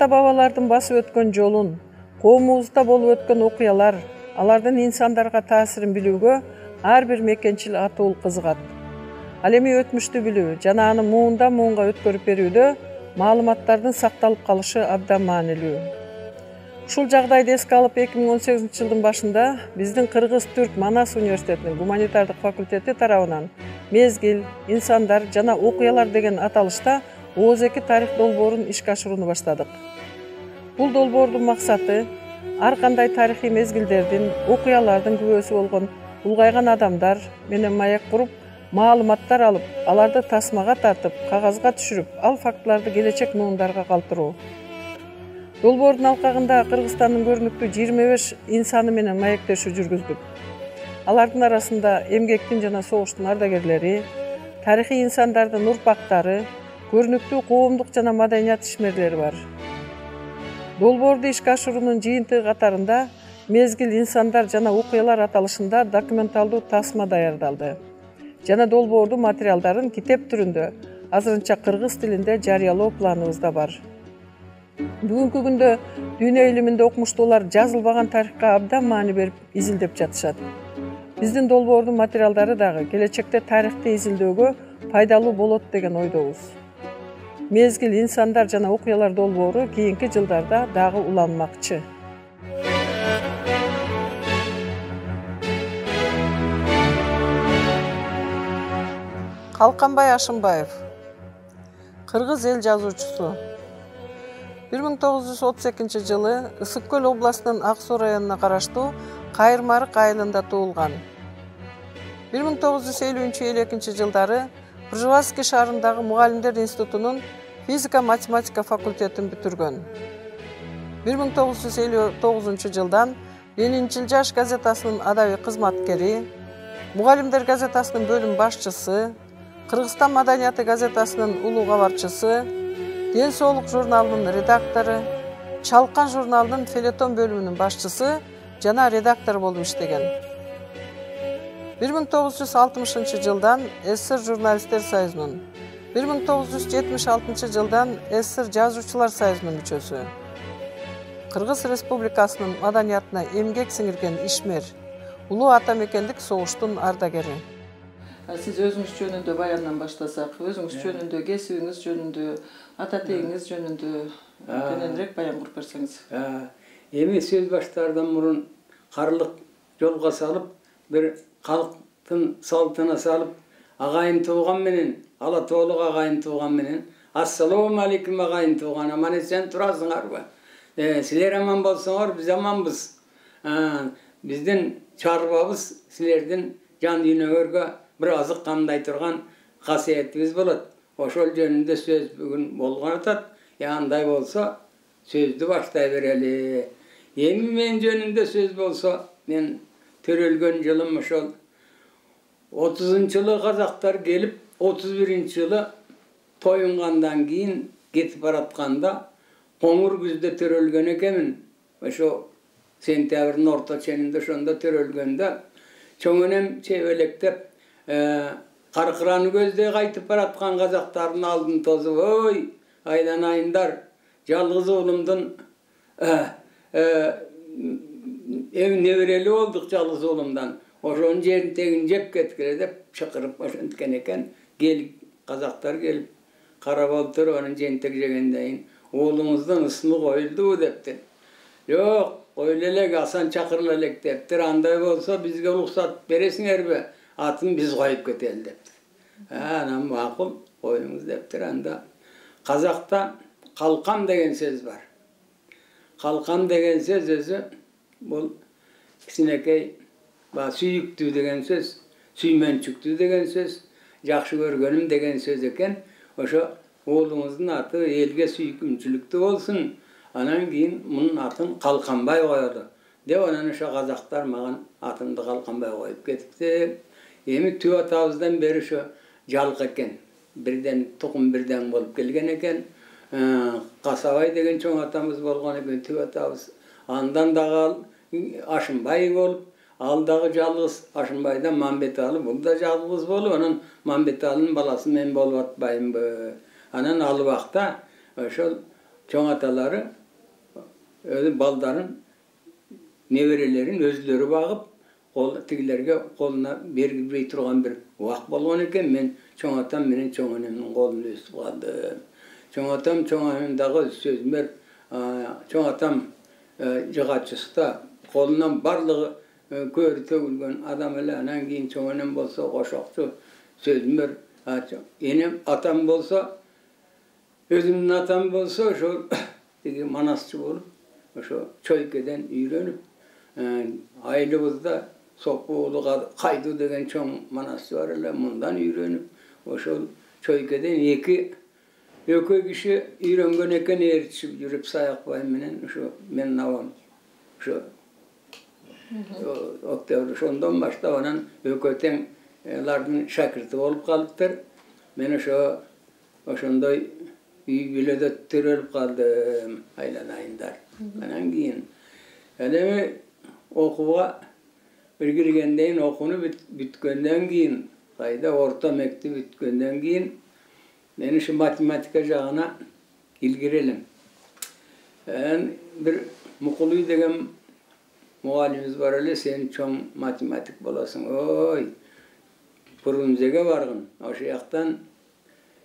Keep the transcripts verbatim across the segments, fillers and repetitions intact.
ата-бабалардын басып өткөн жолун, коомубузда болуп өткөн окуялар, алардын инсандарга таасирин билүүгө ар бир мекенчил атуул кызыгат. Ал эми өтмүштү билүү жана аны муундан муунга өткөрүп берүүдө маалыматтардын сакталып калышы абдан маанилүү. Ушул жагдайды эске алып эки миң он сегизинчи жылдын башында биздин Кыргыз-Түрк Манас университетинин гуманитардык факультети тарабынан мезгил, инсандар жана окуялар деген аталышта Ооз эки тарых долбоорун ишке ашырууну баштадык. Бул долбоордун максаты ар кандай тарыхый мезгилдердин, окуялардын күбөсү болгон улгайган адамдар менен маек куруп, маалыматтар алып, аларды тасмага тартып, кагазга түшүрүп, ал фактыларды келечек муундарга калтыруу. Долбоордун алкагында Кыргызстандын көрүнүктүү жыйырма беш инсаны менен маектешүү жүргүздүк. Алардын арасында эмгектин жана согуштун ардагерлери, тарыхый инсандардын урпактары, көрүнүктүү коомдук жана маданият ишмерлери бар. Долбоорду ишке ашыруунун жыйынтыгы катарында мезгил, инсандар жана окуялар аталышында документалдуу тасма даярдалды жана долбоордун материалдарын китеп түрүндө азырынча кыргыз тилинде жарыялоо планыбызда бар. Бүгүнкү күндө дүйнө илиминде окумуштуулар жазылбаган тарыхка абдан маани берип изилдеп жатышат. Биздин долбоордун материалдары дагы келечекте тарыхты изилдөөгө пайдалуу болот деген ойдобуз. Мезгил, инсандар жана окуялар долбоору кийинки жылдарда дагы уланмакчы. Калканбай Ашымбаев, кыргыз эл жазуучусу. бир миң тогуз жүз отуз экинчи жылы Ысык Көл областынын Ак Суу районуна караштуу Кайырмарык айылында туулган. бир миң тогуз жүз элүүнчү элүү экинчи жылдары Пржевальский шаарындагы Мугалимдер институтунун физика-математика факультетин бүтүргөн. бир миң тогуз жүз элүү тогузунчу жылдан Ленинчил жаш газетасынын адабий кызматкери, Мугалимдер газетасынын бөлүм башчысы, Кыргызстан маданияты газетасынын улуу кабарчысы, Ден соолук журналынын редактору, Чалкан журналынын фельетон бөлүмүнүн башчысы жана редактор болуп иштеген. бир миң тогуз жүз алтымышынчы жылдан СССР журналисттер союзунун, бир миң тогуз жүз жетимиш алтынчы жылдан СССР жазуучулар союзунун мүчөсү. Кыргыз Республикасынын маданиятына эмгек сиңирген ишмер, улуу ата мекендик согуштун ардагери. Сиз өзүңүз жөнүндө баяндан баштасак, өзүңүз жөнүндө, кесибиңиз жөнүндө, ата тегиңиз жөнүндө кененирээк баян куруп берсеңиз. Эми сөз баштаардан мурун карлык жолго салып, бир калктын салтына салып, агайын тууган менен, ала тоолук агайын тууган менен, ассалому алейкум агайын тууган, аман эсен турасыңарбы? Силер аман болсоңор, биз аманбыз. Биздин чарбабыз силердин жан дүйнөңөргө бир азык камдай турган касиетибиз болот. Ошол жөнүндө сөз бүгүн болгон атат. Андай болсо сөздү баштай берели. Эми мен жөнүндө сөз болсо, мен төрөлгөн жылым ошол отузунчу жылы казактар келип, отуз биринчи жылы тоюнгандан кийин кетип баратканда коңур күздө төрөлгөн экенмин. Ошо сентябрдын орто ченинде ошондо төрөлгөндө чоң энем чебелектеп каркыраны көздөй кайтып бараткан казактардын алдын тосуп, ой, айланайындар, жалгыз уулумдун неберели болдук жалгыз уулумдан. Ошонун жерин тегин жеп кеткиле деп чакырып ошенткен экен. Кел казактар келип карап отуруп, анан жентек жегенден кийин уулуңуздун ысмы коюлдубу дептир. Жок, коюлу элек, Асан чакырыла элек дептир. Андай болсо бизге уруксат бересиңерби? Атын биз коюп кетели дептир. Анан макул, коюңуз дептир. Анда казакта калкам деген сөз бар. Калкам деген сөз өзү бул кичинекей сүйүктүү деген сөз, сүймөнчүктүү деген сөз, жакшы көргөнүм деген сөз экен. Ошо уулуңуздун аты элге сүйкүмчүлүктүү болсун. Анан кийин мунун атын Калканбай коелу деп, анан ошо казактар мага атымды Калканбай коюп кетипти. Эми түп атабыздан бери ошо жалк экен. Бирден тукум бирден болуп келген экен. Касабай деген чоң атамыз болгон экен, түп атабыз. Андан дагы Ашымбай болуп, ал дагы жалгыз. Ашымбайдан Мамбеталы, бул да жалгыз болуп, анан Мамбеталынын баласы мен болуп атпаймынбы? Анан ал убакта ошол чоң аталары өзү балдарын, неберелерин өзлөрү багып, кол тигилерге колуна бергилбей турган бир убак болгон экен. Мен чоң атам менен чоң энемдин колун өстүп калдым. Чоң атам, чоң энем дагы сөзүм бар. Чоң атам жыгачыста колунан барлыгы көөрү төгүлгөн адам эле. Анан кийин чоң энем болсо кошокчу, сөзүм бар. Энем атам болсо, өзүмдүн атам болсо ошо тиги манасчы болуп, ошо чойкеден үйрөнүп, айылыбызда Сокуулу Кайду деген чоң манасчы бар эле, мындан үйрөнүп, ошол чойкеден эки экөө киши үйрөнгөн экен, ээрчип жүрүп Саякбай менен ошо менин абам ошо октябрь ошондон баштап анан экөө тең алардын шакирти болуп калыптыр. Мен ошо ошондой үй бүлөдө төрөлүп калдым, айланайындар. Анан кийин эми окууга бир киргенден кийин, окууну бүткөндөн кийин, кайда орто мектеп бүткөндөн кийин мен ушу математика жагына илгири элем. Анан бир Мукулуй деген мугалимибиз бар эле, сен чоң математик болосуң. Ой, Фрунзеге баргын, ошол жактан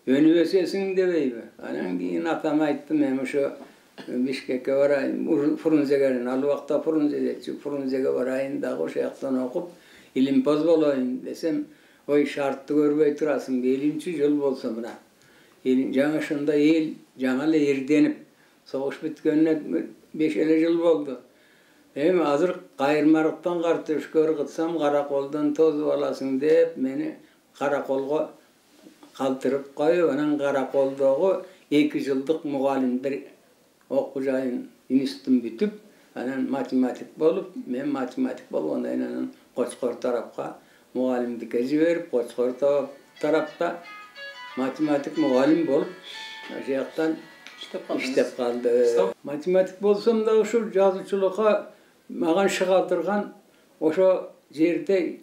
өнүп өсөсүң дебейби? Анан кийин атама айттым, мен ошо Бишкекке барайын, Фрунзеге, ал убакта Фрунзеде, Фрунзеге барайын дагы ошол жактан окуп, илимпоз болоюн десем, ой, шартты көрбөй турасың, элүүнчү жыл болсо мына. Жаңа ошондо эл жаңа эле эрденип, согуш бүткөнүнө беш эле жыл болду. Эми азыр кайырмалыктан картөшкө ыргытсам караколдон тозуп аласың деп мени караколго калтырып коюп, анан караколдогу эки жылдык мугалимдер окуу жайын институтун бүтүп, анан математик болуп, мен математик болгондон кийин анан Кочкор тарапка мугалимдикке жиберип, Кочкор тарапта математик мугалим болуп, ошол жактан иштеп калды. Математик болсом да ушул жазуучулукка мага шыгалтырган ошо жерде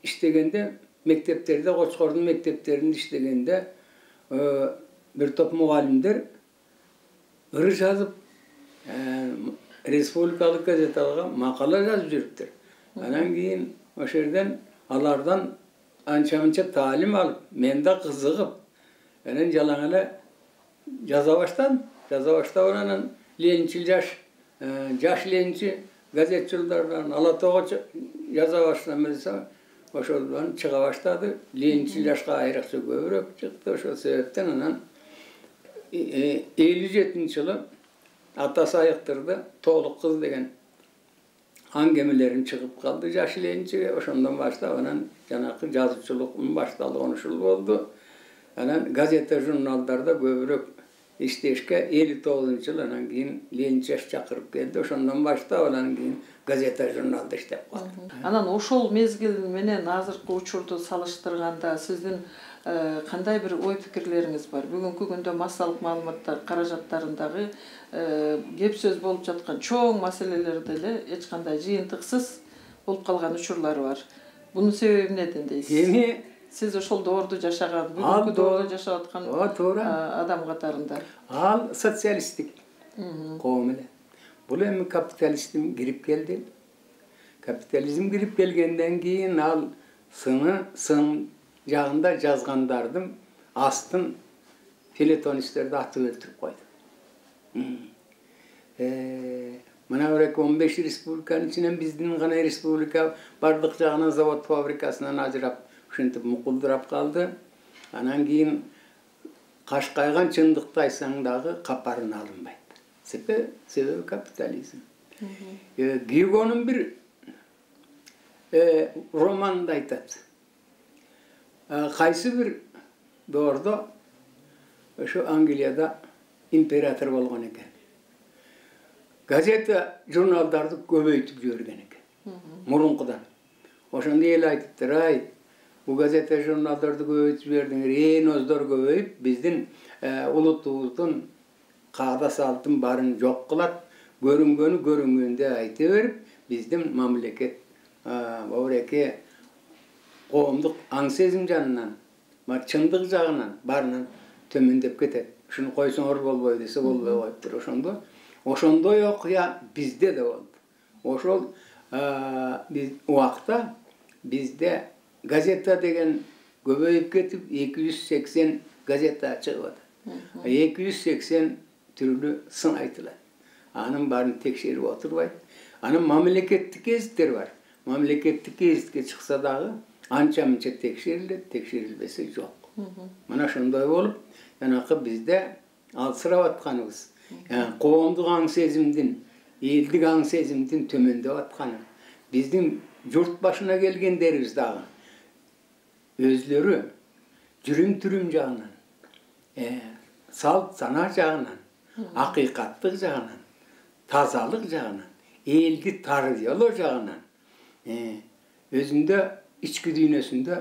иштегенде, мектептерде, Кочкордун мектептеринде иштегенде бир топ мугалимдер ыры жазып, республикалык газеталарга макала жазып жүрүптүр. Анан кийин ошол жерден алардан анча-мынча таалим алып, мен да кызыгып, анан жалаң эле жаза баштадым. Жаза баштап анан Ленинчил жаш, жаш Ленинчи газетчилерден Ала Тоого жаза баштадым десе, ошолдон чыга баштады. Ленинчил жашка айрыкча көбүрөөк чыкты. Ошол себептен анан элүү жетинчи жылы атасы айыктырды, Тоолук кыз деген аңгемелерин чыгып калды жаш Ленинчиге. Ошондон баштап анан жанакы жазуучулуктун башталганы ушул болду. Анан газета журналдарда көбүрөөк иштешке элүү тогузунчу жылы анан кийин Ленинчи чакырып келди. Ошондон баштап анан кийин газета журналда иштеп калдым. Анан ошол мезгил менен азыркы учурду салыштырганда сиздин кандай бир ой пикирлериңиз бар? Бүгүнкү күндө массалык маалыматтар каражаттарындагы кеп сөз болуп жаткан чоң маселелерде эле эч кандай жыйынтыксыз болуп калган учурлар бар. Бунун себеби эмнеден дейсиз? Эми сиз ошол доордо жашаган, бүгүнкү доордо жашап аткан адам катарында. Ал социалисттик коом эле. Бул эми капитализм кирип келди. Капитализм кирип келгенден кийин ал сыны сын жагында жазгандардын астын филетонисттерди атып өлтүрүп койду. Мына бир он беш республиканын ичинен биздин гана республика бардык жагынан завод фабрикасынан ажырап, ушинтип мукулдурап калды. Анан кийин кашкайган чындыкты айтсаң дагы капарын алынбайт. Себеби капитализм. Гюгонун бир романында айтат. Кайсы бир доордо ошо Англияда император болгон экен. Газета журналдарды көбөйтүп жиберген экен. Мурункудан. Ошондо эл айтыптыр, ай, бу газета журналдарды көбөйтүп жибердиңер, ээн оздор көбөйүп, биздин улутубуздун каада салтын барын жок кылат, көрүнгөнү көрүнгөндө айта берип, биздин мамлекет обуреке коомдук аң сезим жанынан, чындык жагынан барынан төмөндөп кетет. Ушуну койсоңор болбойт десе болбой коюптур. Ошондо ошондой окуя бизде да болду. Ошол биз убакта бизде газета деген көбөйүп кетип эки жүз сексен газета чыгып атат. эки жүз сексен түрлүү сын айтылат. Анын баарын текшерип отурбайт. Анын мамлекеттик гезиттер бар. Мамлекеттик гезитке чыкса дагы анча мынча текшерилет, текшерилбесе жок. Мына ошондой болуп, жанакы бизде алсырап атканыбыз, коомдук аң сезимдин, элдик аң сезимдин төмөндөп атканы. Биздин журт башына келгендерибиз дагы өзлөрү жүрүм-түрүм жагынан, салт сана жагынан, акыйкаттык жагынан, тазалык жагынан, элди тарбиялоо жагынан өзүндө ички дүйнөсүндө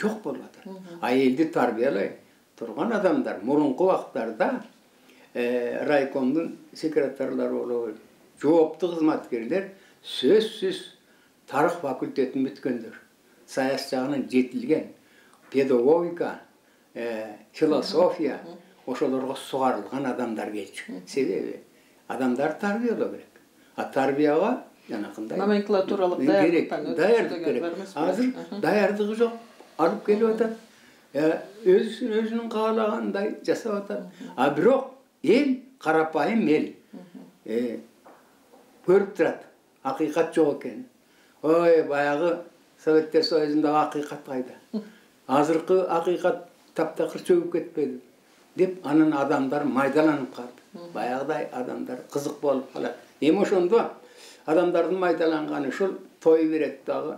жок болуп атат. А элди тарбиялай турган адамдар мурунку убактарда райкомдун секретарлары болобу, жооптуу кызматкерлер сөзсүз тарых факультетин бүткөндөр, саясат жагынан жетилген, педагогика, философия ошолорго сугарылган адамдар келчү. Себеби адамдар тарбиялоо керек. А тарбияга жанакындай номенклатуралык даярдык керек. Азыр даярдыгы жок, алып келип атат. Өзүнүн өзүнүн каалагандай жасап атат. А бирок эл, карапайым эл көрүп турат, акыйкат жок экен. Ой, баягы Советтер Союзундагы акыйкат кайда? Азыркы акыйкат таптакыр чөгүп кетпеди деп анын адамдар майдаланып калды. Баягыдай адамдар кызык болуп калат. Эми ошондо адамдардын майдаланганы ушул той берет дагы.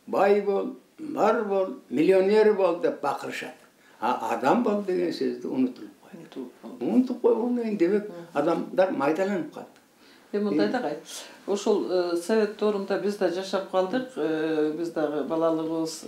Бай бол, бар бол, миллионер бол деп бакырышат. А адам бол деген сөздү унутулуп койду. Унутуп койгондон кийин демек адамдар майдаланып калды. Эми мындай дагы ошол совет доорунда биз да жашап калдык, биз дагы балалыгыбыз,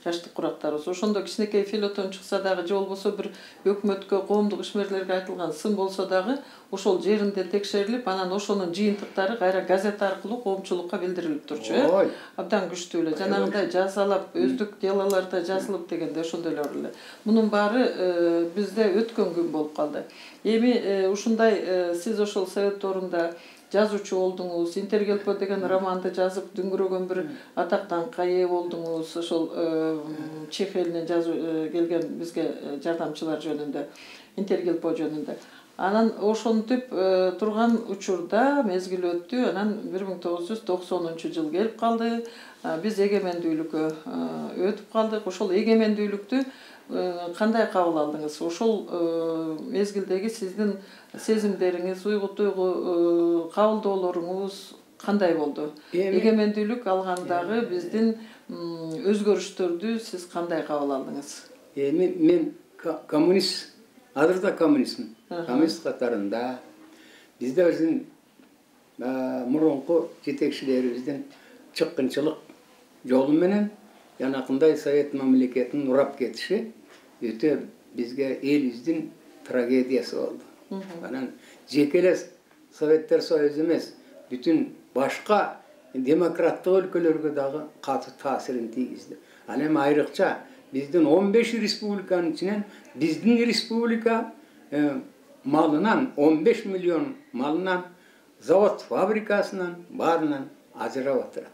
жаштык курактарыбыз. Ошондо кичинекей фельетон чыкса дагы же болбосо бир өкмөткө, коомдук ишмерлерге айтылган сын болсо дагы ошол жеринде текшерилип, анан ошонун жыйынтыктары кайра газета аркылуу коомчулукка билдирилип турчу, э? Абдан күчтүү эле. Жанагындай жазалап, өздүк делолордо жазылып дегенде ошондойлор эле. Мунун баары бизде өткөн күн болуп калды. Эми ушундай сиз ошол совет доорунда жазуучу болдуңуз, Интергелпо деген романды жазып, дүңгүрөгөн бир атактанга ээ болдуңуз. Ошол Чех элинен жазуу келген бизге жардамчылар жөнүндө, Интергелпо жөнүндө. Анан ошентип турган учурда мезгил өттү. Анан бир миң тогуз жүз токсонунчу жыл келип калды. Биз эгемендүүлүккө өтүп калдык. Ошол эгемендүүлүктү кандай кабыл алдыңыз? Ошол мезгилдеги сиздин сезимдериңиз, уйгу-туйгу кабылдоолоруңуз кандай болду? Эгемендүүлүк алгандагы биздин өзгөрүштөрдү сиз кандай кабыл алдыңыз? Эми мен коммунист, азыр да коммунистмин. Коммунист катарында бизде биздин мурунку жетекчилерибиздин чыккынчылык жолу менен жанакындай совет мамлекетин урап кетиши өтө бизге элибиздин трагедиясы болду. Анан жеке эле Советтер Союзу эмес, бүтүн башка демократтык өлкөлөргө дагы катуу таасирин тийгизди. Ал эми айрыкча биздин он беш республиканын ичинен биздин республика малынан, он беш миллион малынан, завод фабрикасынан баарынан ажырап отурат.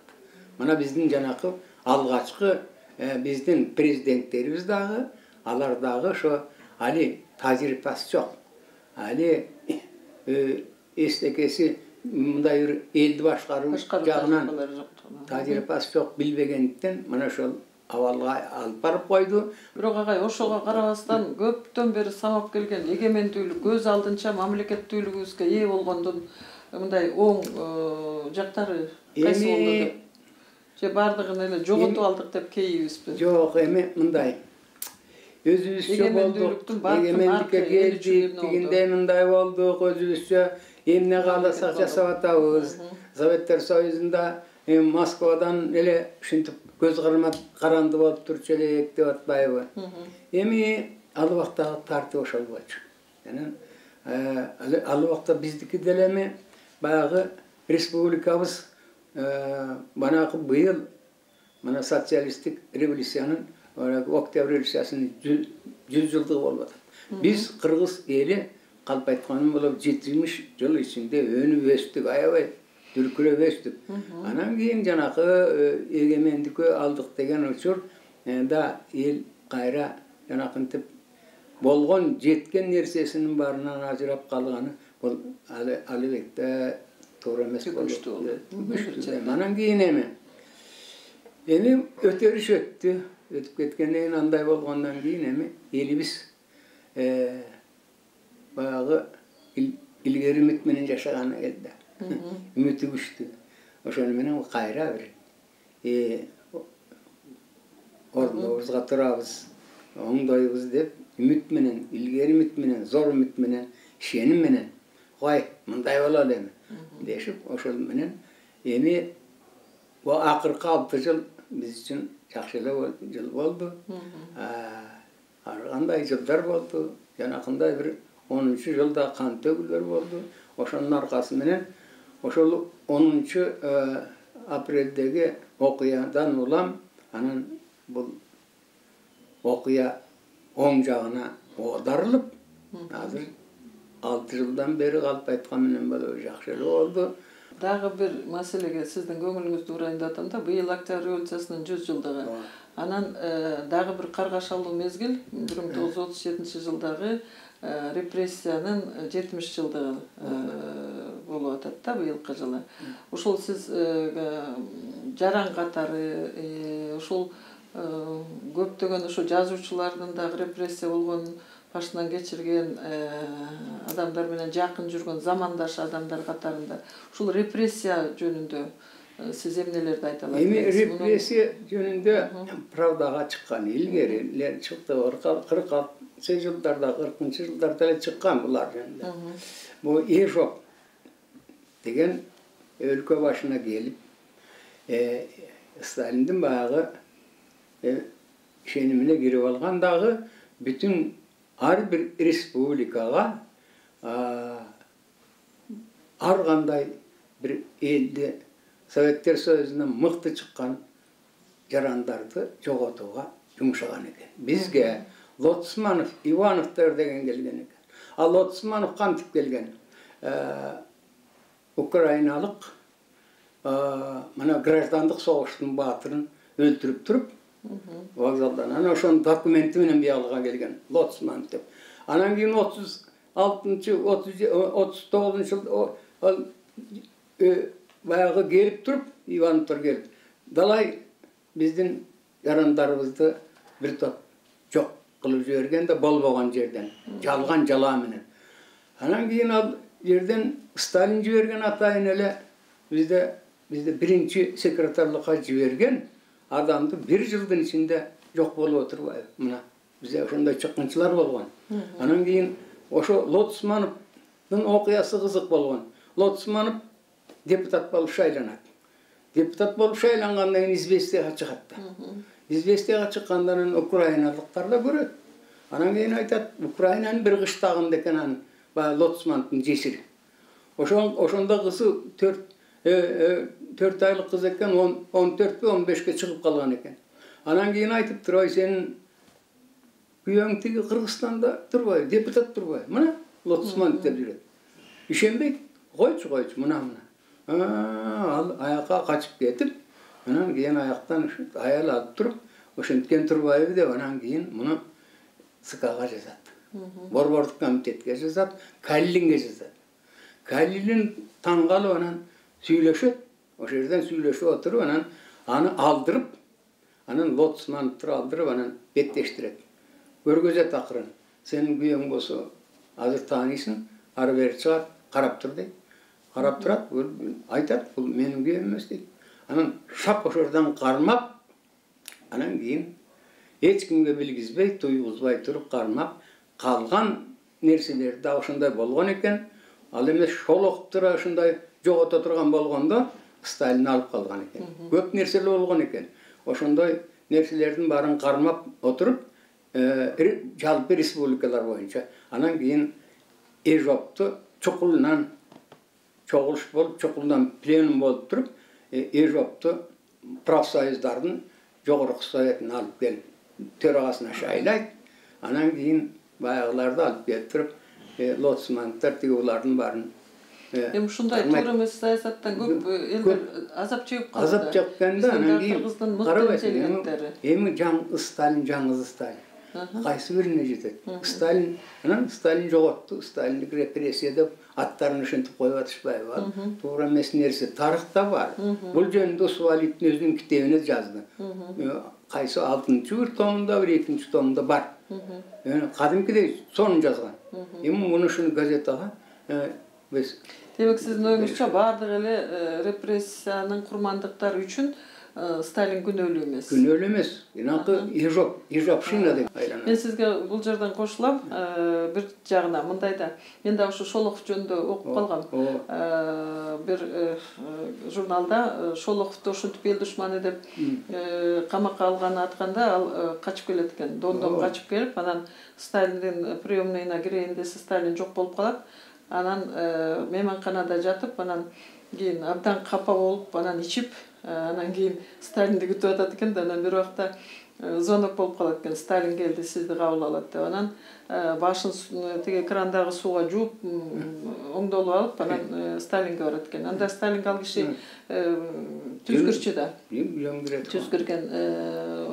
Мына биздин жанакы алгачкы биздин президенттерибиз дагы, алар дагы ошо али тажрыйбасы жок. Али эстекеси мындай бир элди башкаруу жагынан тажрыйбасы жок, билбегендиктен мына ошол абалга алып барып койду. Бирок агай, ошого карабастан көптөн бери самап келген эгемендүүлүк, көз алдынча мамлекеттүүлүгүбүзгө ээ болгондун мындай оң жактары кайсы болду деп? Же бардыгын эле жоготуп алдык деп кейибизби? Жок, эми мындай. Өзүбүзчө болдук, эгемендикке келдик, дегенде мындай болдук, өзүбүзчө эмне кааласак жасап атабыз. Советтер Союзунда Москвадан эле ушинтип көз каранды болуп турчу элек деп атпайбы? Эми ал убактагы тартип ошол болчу. Анан ал убакта биздики деле эми баягы республикабыз банакы быйыл мына социалисттик революциянын, октябрь революциясынын жүз жылдыгы болуп атат. Биз кыргыз эли калп айтканым болуп жетимиш жыл ичинде өнүп өстүк, аябай дүркүрөп өстүк. Анан кийин жанакы эгемендикке алдык деген учур да эл кайра жанакынтип болгон жеткен нерсесинин баарынан ажырап калганы бул албетте туура эмес болду. Анан кийин эми эми өтөрүш өттү. Өтүп кеткенден кийин андай болгондон кийин эми элибиз баягы илгери үмүт менен жашаганы келди. Үмүтү күчтүү. Ошону менен кайра бир ордубузга турабыз, оңдойбуз деп үмүт менен, илгери үмүт менен, зор үмүт менен, ишеним менен кой мындай бололу эми дешип, ошол менен эми бул акыркы алты жыл биз үчүн жакшы эле жыл болду. Ар кандай жылдар болду. Жанакындай бир онунчу жылда кан төгүлөр болду. Ошонун аркасы менен ошол онунчу апрелдеги окуядан улам анан бул окуя оң жагына оодарылып, азыр алты жылдан бери калп айткан менен болуп жакшы эле болду. Дагы бир маселеге сиздин көңүлүңүздү бурайын атам да, быйыл Октябрь революциясынын жүз жылдыгы. Анан дагы бир каргашалуу мезгил бир миң тогуз жүз отуз жетинчи жылдагы репрессиянын жетимиш жылдыгы болуп атат да быйылкы жылы. Ушул сиз жаран катары ушул көптөгөн ошо жазуучулардын дагы репрессия болгонун башынан кечирген адамдар менен жакын жүргөн замандаш адамдар катарында ушул репрессия жөнүндө сиз эмнелерди айта аласыз? Эми репрессия жөнүндө правдага чыккан, илгери эле чыкты. кырк алтынчы жылдарда, кыркынчы жылдарда эле чыккан булар жөнүндө. Бул Ежоп деген өлкө башына келип, Сталиндин баягы ишенимине кирип алган дагы бүтүн ар бир республикага ар кандай бир элди Советтер Союзунан мыкты чыккан жарандарды жоготууга жумшаган экен. Бизге Лотсманов, Ивановтор деген келген экен. Ал Лотсманов кантип келген? Украиналык мына граждандык согуштун баатырын өлтүрүп туруп, вокзалдан анан ошонун документи менен биялга келген Лотсман деп. Анан кийин отуз алтынчы, отуз тогузунчу жыл баягы келип туруп, Ивановтор келип, далай биздин жарандарыбызды бир топ жок кылып жиберген да болбогон жерден, жалган жалаа менен. Анан кийин ал жерден Сталин жиберген атайын эле бизде бизде биринчи секретарлыкка жиберген адамды бир жылдын ичинде жок болуп отурбайбы? Мына бизде ошондой чыккынчылар болгон. Анан кийин ошо Лотсмановдун окуясы кызык болгон. Лотсманов депутат болуп шайланат. Депутат болуп шайлангандан кийин известияга чыгат да. Известияга чыккандан украиналыктар да көрөт. Анан кийин айтат, Украинанын бир кыштагында экен анын баягы Лотсмановдун жесири. Ошон ошондо кызы төрт төрт айлык кыз экен, он төрт он бешке чыгып калган экен. Анан кийин айтыптыр, ой сенин күйөөң тиги Кыргызстанда турбайбы, депутат турбайбы? Мына Лотсманов деп жүрөт. Ишенбейт, койчу койчу мына мына. Ал аякка качып кетип, анан кийин аяктан аял алып туруп, ошенткен турбайбы деп анан кийин муну ЦКга жазат. Борбордук комитетке жазат, Калилинге жазат. Калилин таң калып анан сүйлөшөт. Ошол жерден сүйлөшүп отуруп анан аны алдырып, анан Лотсмановду алдырып анан беттештирет. Көргөзөт акырын. Сенин күйөөң болсо азыр таанийсың, ары бери чыгат, карап тур дейт. Карап турат, айтат, бул менин күйөөм эмес дейт. Анан шап ошол жерден кармап, анан кийин эч кимге билгизбей, туйгузбай туруп кармап, калган нерселер да ошондой болгон экен. Ал эмес Шолоховду ошондой жогото турган болгондо Сталин алып калган экен. Көп нерселер болгон экен. Ошондой нерселердин баарын кармап отуруп, жалпы республикалар боюнча. Анан кийин Ежопту чукулунан чогулуш болуп, чукулунан пленум болуп туруп, Ежопту профсоюздардын жогорку советине алып келип, төрагасына шайлайт. Анан кийин баягыларды алып келип туруп, лоцмандтар тиги улардын баарын эми ушундай туура эмес саясаттан көп элдер азап чегип калды. Азап чеккен да, анан кийин Кыргыздын мыкты интеллигенттери. Эми жаңы Сталин, жаңы Сталин. Кайсы бирине жетет? Сталин, анан Сталин жоготту, Сталиндик репрессия деп аттарын ушинтип коюп атышпайбы? Туура эмес нерсе тарыхта бар. Бул жөнүндө Суалиттин өзүнүн китебине жазды. Кайсы алтынчы бир томунда, бир экинчи томунда бар. Кадимкидей сонун жазган. Эми муну ушуну газетага биз. Демек сиздин оюңузча баардык эле репрессиянын курмандыктары үчүн Сталин күнөөлүү эмес. Күнөөлүү эмес. Инакы ежоп, ежопшина деп айланат. Мен сизге бул жерден кошулам. Бир жагына мындай да, мен да ушу Шолохов жөнүндө окуп калгам. Бир журналда Шолоховду ушинтип эл душманы деп камакка алганы атканда ал качып келет экен. Дондон качып келип, анан Сталиндин приемныйына кирейин десе Сталин жок болуп калат. Анан мейманканада жатып, анан кийин абдан капа болуп, анан ичип, анан кийин Сталинди күтүп атат экен да, анан бир убакта звонок болуп калат экен. Сталин келди, сизди кабыл алат деп. Анан башын тиги крандагы сууга жууп, оңдолуп алып, анан Сталинге барат экен. Анда Сталинге ал киши түзкүрчү да. Түзкүрген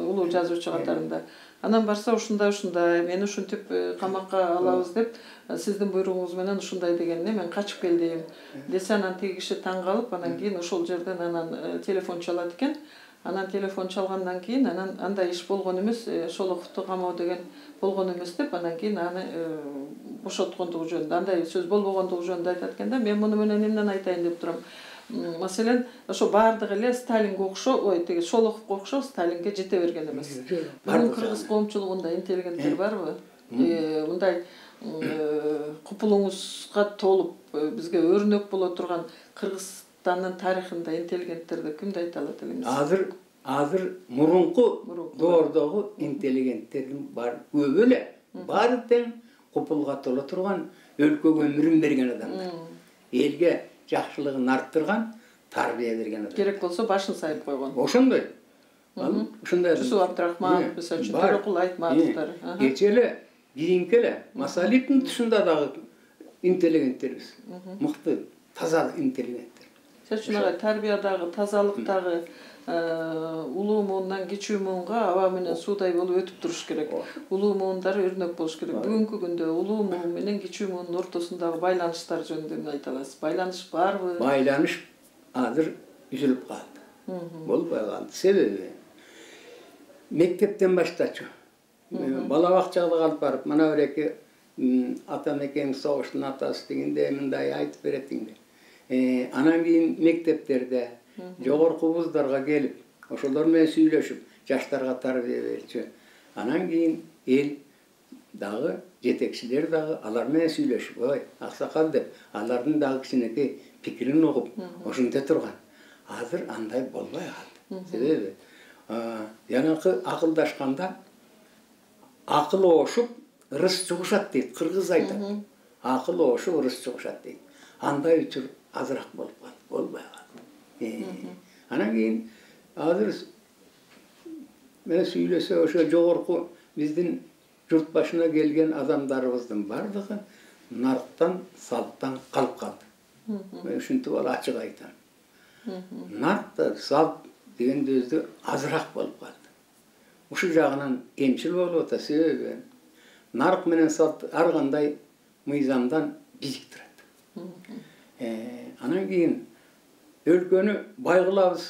улуу жазуучу катарында. Анан барса ушундай ушундай, мени ушинтип камакка алабыз деп, сиздин буйругуңуз менен ушундай дегенине мен качып келдим. Десе анан тиги киши таң калып, анан кийин ошол жерден анан телефон чалат экен. Анан телефон чалгандан кийин анан андай иш болгон эмес, Шолоховду камоо деген болгон эмес деп, анан кийин аны бошоткондугу жөнүндө, андай сөз болбогондугу жөнүндө айтат экен да. Мен муну менен эмнени айтайын деп турам. Маселен, ошо баардык эле Сталинге окшо, ой, тиги Шолоховго окшо Сталинге жете берген эмес. Бүгүн кыргыз коомчулугунда интеллигенттер барбы? Мындай купулуңузга толуп бизге өрнөк боло турган Кыргызстандын тарыхында интеллигенттерди кимди айта алат элеңиз? Азыр азыр мурунку доордогу интеллигенттердин бар көбү эле баары тең купулга толо турган, өлкөгө өмүрүн берген адамдар. Элге жакшылыгын арттырган, тарбия берген адам. Керек болсо башын сайып койгон. Ошондой. Ушундай. Жусуп Абдрахман, мисалы үчүн Төрөкул Айтматовдор. Кече эле, кийинки эле Масалиптин тушунда дагы интеллигенттербиз. Мыкты, таза интеллигенттер. Сиз үчүн тарбиядагы, тазалыктагы улуу муундан кичүү муунга аба менен суудай болуп өтүп туруш керек. Улуу муундар өрнөк болуш керек. Бүгүнкү күндө улуу муун менен кичүү муунун ортосундагы байланыштар жөнүндө эмне айта аласыз? Байланыш барбы? Байланыш азыр үзүлүп калды. Болбой калды. Себеби мектептен баштачу. Бала бакчага алып барып, мына бир эки ата мекең согуштун атасы дегенде мындай айтып берет дегенде. Анан кийин мектептерде жогорку вуздарга келип, ошолор менен сүйлөшүп, жаштарга тарбия берчү. Анан кийин эл дагы, жетекчилер дагы алар менен сүйлөшүп, ой, аксакал деп, алардын дагы кичинекей пикирин угуп, ошенте турган. Азыр андай болбой калды. Себеби жанакы акылдашканда акыл ошуп, ырыс жугушат дейт, кыргыз айтат. Акыл ошуп, ырыс жугушат дейт. Андай үчүр азыраак болуп калды, болбой калды. Анан кийин азыр мен сүйлөсө ошо жогорку биздин журт башына келген адамдарыбыздын бардыгы нарктан, салттан калып калды. Мен ушинтип ал ачык айтам. Нарк, салт дегенде өзү азыраак болуп калды. Ушул жагынан кемчил болуп атат, себеби нарк менен салт ар кандай мыйзамдан бийик турат. Анан кийин өлкөнү бай кылабыз,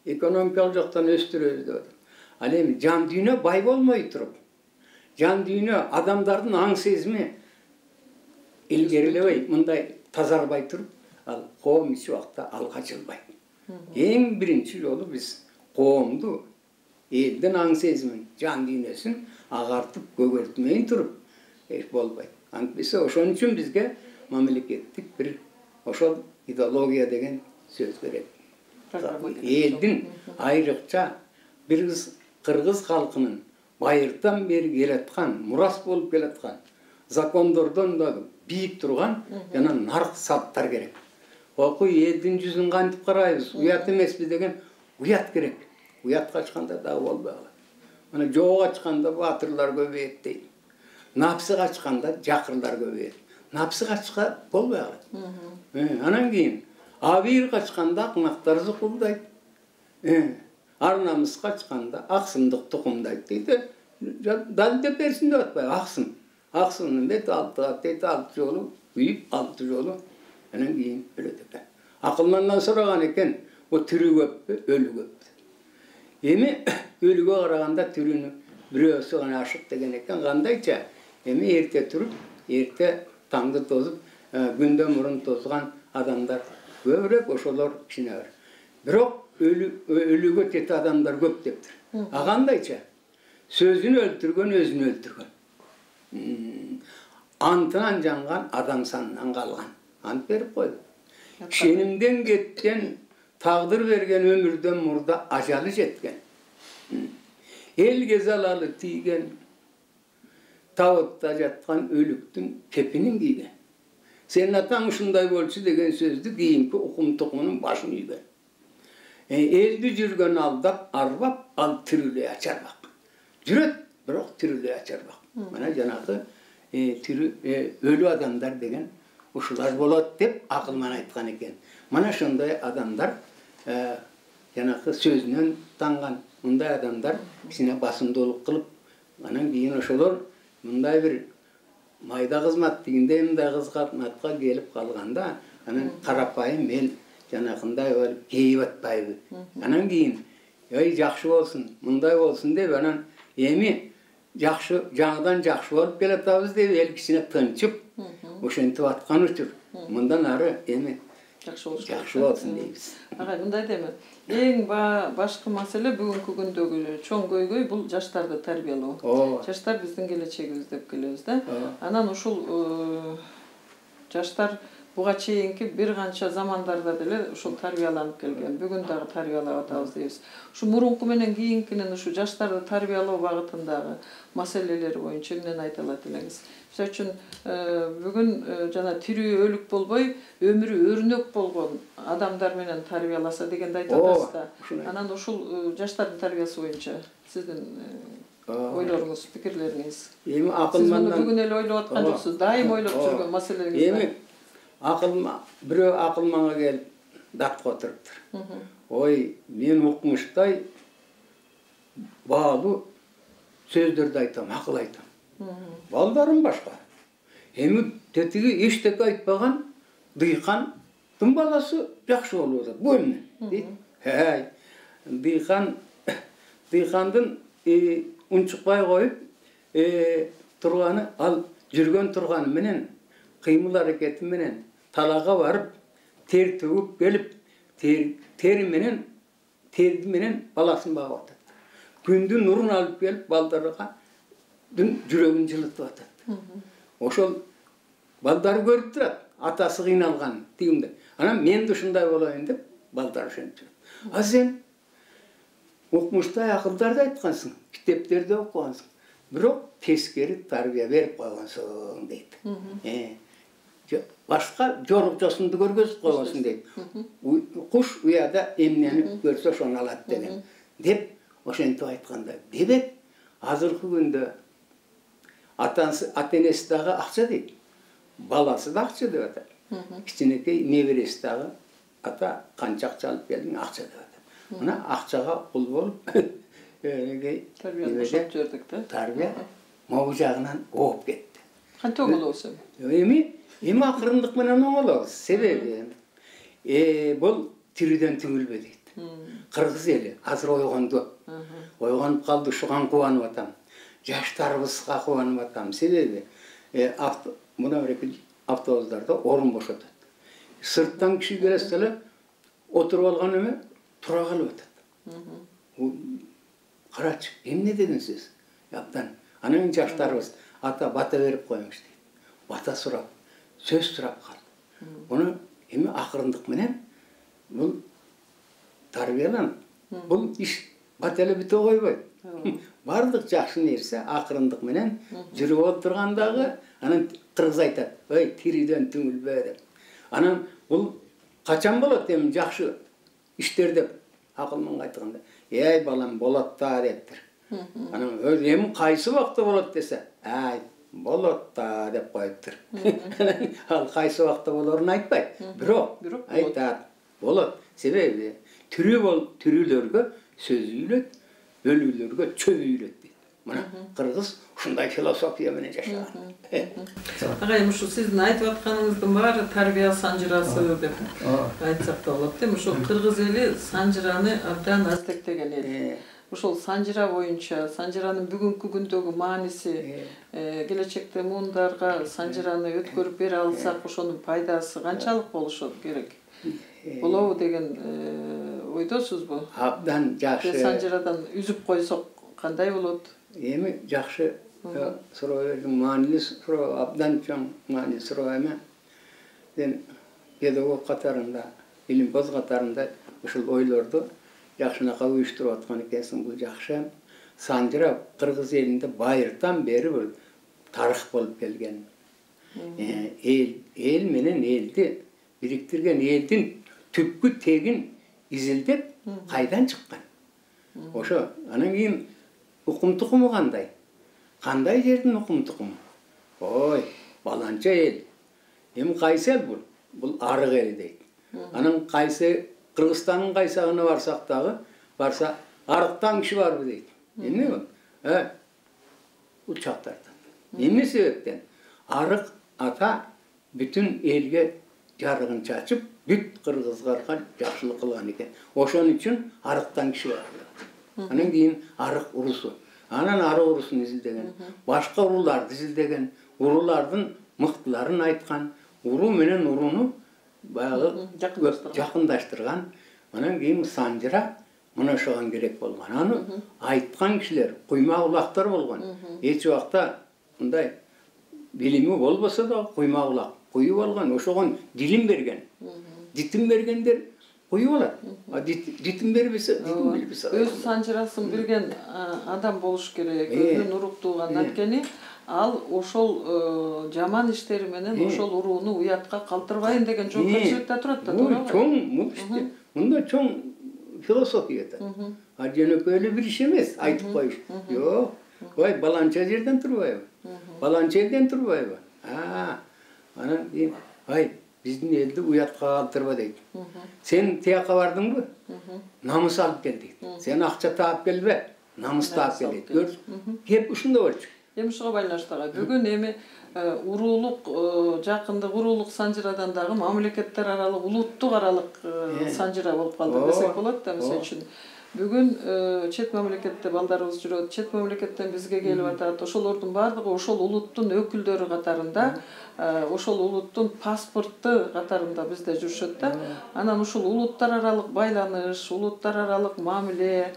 экономикалык жактан өстүрөбүз деп атат. Ал эми жан дүйнө бай болмой туруп, жан дүйнө адамдардын аң сезими илгерилебей, мындай тазарбай туруп, ал коом эч убакта алга жылбайт. Эң биринчи жолу биз коомду, элдин аң сезимин, жан дүйнөсүн агартып, көгөртмөй туруп эч болбойт. Антпесе ошон үчүн бизге мамлекеттик бир ошол идеология деген сөз керек. Элдин айрыкча бир кыргыз калкынын байыртан бери келаткан, мурас болуп келаткан закондордон да бийик турган жана нарк салттар керек. Окуй элдин жүзүн кантип карайбыз, уят эмеспи деген уят керек. Уят качканда дагы болбой калат. Мына жоого ачканда баатырлар көбөйөт дейт. напсы качканда жакырлар көбөйөт. Напсы качка болбой калат. Анан кийин абийир качканда акмактар зукулдайт. Ар намыс качканда аксымдык тукумдайт дейт. Дал деп берсин деп атпайбы, аксым. Аксымдын бети алты дейт, алты жолу күйүп, алты жолу анан кийин өлөт экен. Акылмандан сураган экен, бу тирүү көппү, өлү көппү? Эми өлүгө караганда тирүүнү бирөөсү гана ашык деген экен. Кандайча? Эми эрте туруп, эрте таңды тозуп, күндөн мурун тозган адамдар көбүрөөк, ошолор кичине бар. Бирок өлүгө тете адамдар көп дептир. А кандайча? Сөзүн өлтүргөн өзүн өлтүргөн. Антынан жанган адам санынан калган. Ант берип койду. Шенимден кеткен, тагдыр берген өмүрдөн мурда ажалы жеткен. Элге залалы тийген, табытта жаткан өлүктүн кепинин кийген. Сенин атаң ушундай болчу деген сөздү кийинки укум тукумунун башын үйгөн. Элди жүргөн алдап, арбап, ал тирүүлөй ачарбак. Жүрөт, бирок тирүүлөй ачарбак. Мына жанагы өлү адамдар деген ушулар болот деп акылман айткан экен. Мына ошондой адамдар жанагы сөзүнөн танган мындай адамдар кичине басымдуулук кылып, анан кийин ошолор мындай бир майда кызмат дегенде мындай кызматка келип калганда, анан карапайым эл жанагындай болуп кейип атпайбы. Анан кийин ой жакшы болсун, мындай болсун деп анан эми жакшы жаңыдан жакшы болуп келатабыз деп эл кичине тынчып, ошентип аткан учур мындан ары эми жакшы болсун дейбиз. Агай, мындай деме. Эң башкы маселе бүгүнкү күндөгү чоң көйгөй бул жаштарды тарбиялоо. Жаштар биздин келечегибиз деп келебиз да. Анан ушул жаштар буга чейинки бир канча замандарда деле ушул тарбияланып келген. Бүгүн дагы тарбиялап атабыз дейбиз. Ушу мурунку менен кийинкинин ушу жаштарды тарбиялоо багытындагы маселелери боюнча эмнени айта алат элеңиз? Мисалы үчүн бүгүн жана тирүү өлүк болбой, өмүрү өрнөк болгон адамдар менен тарбияласа дегенди айтып атасыз да. Анан ушул жаштардын тарбиясы боюнча сиздин ойлоруңуз, пикирлериңиз. Эми акылмандан бүгүн эле ойлоп аткан жоксуз, дайым ойлоп жүргөн маселеңиз. Эми акылма бирөө акылманга келип датка отуруптур. Ой, мен укмуштай баалуу сөздөрдү айтам, акыл айтам. Балдарым башка. Эми тетиги эчтеке айтпаган дыйкандын баласы жакшы болуп атат. Бу эмне? Дейт. Хей, дыйкан дыйкандын унчукпай коюп турганы, ал жүргөн турганы менен, кыймыл аракети менен талага барып, тер төгүп келип, тери менен, терди менен баласын багып атат. Күндүн нурун алып келип балдарга жүрөгүн жылытып атат. Ошол балдары көрүп турат, атасы кыйналган тигимде. Анан мен да ушундай болоюн деп балдар ошентип жүрөт. А сен укмуштай акылдарды айткансың, китептерди окугансың, бирок тескери тарбия берип койгонсуң дейт. Башка жорукчосунду көргөзүп койгонсуң дейт. Куш уяда эмнени көрсө ошону алат деген. Деп ошентип айтканда, демек азыркы күндө атасы, ата-энеси дагы акча дейт. Баласы да акча деп атат. Кичинекей небереси дагы ата канча акча алып келдиң, акча деп атат. Мына акчага кул болуп, тарбияны бошоп жибердик да. Тарбия могу жагынан ооп кетти. Кантип оңолобуз эми? Эми, эми акырындык менен оңолобуз. Себеби бул тирүүдөн түңүлбө дейт. Кыргыз эли азыр ойгонду. Ойгонуп калды, ушуган кубанып атам. Жаштарыбызга кубанып атам. Себеби мына бир автобустарда орун бошотот. Сырттан киши келсе эле отуруп алган эме тура калып атат. Карачы, эмне деген сөз? Абдан. Анан жаштарыбыз ата бата берип коюңуз дейт. Бата сурап, сөз сурап калды. Муну эми акырындык менен бул тарбияланып, бул иш бат эле бүтө койбойт. Бардык жакшы нерсе акырындык менен жүрүп отургандагы, анан кыргыз айтат, ой, тирүүдөн түңүлбө деп. Анан бул качан болот эми жакшы иштер деп акылманга айтканда, эй балам болот да дептир. Анан эми кайсы убакта болот десе, ай, болот да деп коюптур. Ал кайсы убакта болорун айтпайт. Бирок айтат, болот. Себеби түрү бол түрүлөргө сөз үйлөт, бөлүүлөргө чөп үйлөт дейт. Мына кыргыз ушундай философия менен жашаган. Агай, ушу сиздин айтып атканыңыздын баары тарбия санжырасы деп айтсак да болот, эми ошол кыргыз эли санжыраны абдан аздектеген эл. Ошол санжыра боюнча, санжыранын бүгүнкү күндөгү мааниси, келечекте муундарга санжыраны өткөрүп бере алсак, ошонун пайдасы канчалык болушот керек? Болобу деген ойдосузбу? Абдан жакшы. Санжырадан үзүп койсок кандай болот? Эми жакшы суроо, маанилүү суроо, абдан чоң маанилүү суроо эми. Мен педагог катарында, илимпоз катарында ушул ойлорду жакшынакай уюштуруп аткан экенсиң, бул жакшы. Санжыра кыргыз элинде байыртан бери бир тарых болуп келген. Эл, эл менен элди бириктирген, элдин түпкү тегин изилдеп кайдан чыккан. Ошо анан кийин укум тукуму кандай? Кандай жердин укум тукуму? Ой, баланча эл. Эми кайсы эл бул? Бул арык эл дейт. Анан кайсы Кыргызстандын кайсагына барсак дагы, барса арыктан киши барбы дейт. Эмне бул? Э, учактардан. Эмне себептен? Арык ата бүтүн элге жарыгын чачып, бүт кыргыздарга жакшылык кылган экен. Ошон үчүн арыктан киши бар. Анан кийин арык урусу. Анан арык урусун изилдеген, башка уруларды изилдеген, урулардын мыктыларын айткан, уруу менен уруну баягы жакындаштырган. Анан кийин санжыра мына ошого керек болгон. Аны айткан кишилер куйма улактар болгон. Эч убакта мындай билими болбосо да куйма улак куюп болгон. Ошого дилин берген. Дитин бергендер куюп алат. А дитин бербесе, дитин билбесе. Өз санжырасын билген адам болуш керек. Өзүнүн уруктууга анткени ал ошол жаман иштери менен ошол урууну уятка калтырбайын деген жоопкерчиликте турат да, туурабы? Чоң, мында чоң философия да. А жөнөкөй эле бир иш эмес, айтып коюш. Жок. Ой, баланча жерден турбайбы? Баланча элден турбайбы? А, анан кийин, ай, биздин элди уятка калтырба дейт. Сен тияка бардыңбы? Намыс алып кел дейт. Сен акча таап келбе, намыс таап кел дейт. Көр, кеп ушунда болчу. Эми ушуга байланыштуу бүгүн эми уруулук жакындык уруулук санжырадан дагы мамлекеттер аралык, улуттук аралык санжыра болуп калды десек болот да. Мисалы үчүн бүгүн чет мамлекетте балдарыбыз жүрөт, чет мамлекеттен бизге келип атат. Ошолордун баардыгы ошол улуттун өкүлдөрү катарында, ошол улуттун паспортту катарында бизде жүрүшөт да. Анан ушул улуттар аралык байланыш, улуттар аралык мамиле,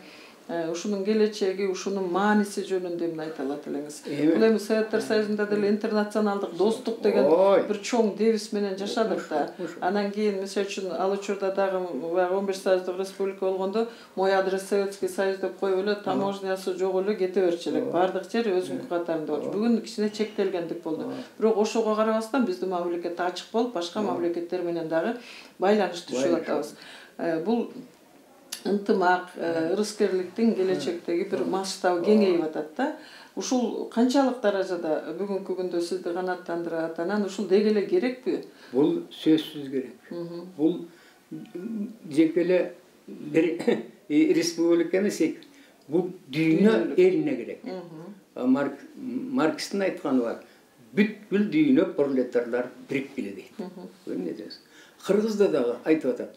ушунун келечеги, ушунун мааниси жөнүндө эмне айта алат элеңиз? Бул эми Советтер Союзунда деле интернационалдык достук деген бир чоң девиз менен жашадык да. Анан кийин мисалы үчүн ал учурда дагы он беш союздук республика болгондо мой адрес Советский Союз деп коюп эле таможнясы жок эле кете берчү элек. Бардык жер өзүнүн катарында болчу. Бүгүн кичине чектелгендик болду. Бирок ошого карабастан биздин мамлекет ачык болуп, башка мамлекеттер менен дагы байланыш түзүп атабыз. Бул ынтымак, ырыскерликтин келечектеги бир масштабы кеңейип атат да. Ушул канчалык даражада бүгүнкү күндө сизди канааттандырат? Анан ушул деги эле керекпи? Бул сөзсүз керек. Бул жеке эле бир республика эмес, бул дүйнө элине керек. Маркстин айтканы бар. Бүткүл дүйнө пролетарлар бириккиле дейт. Кыргызда дагы айтып атат.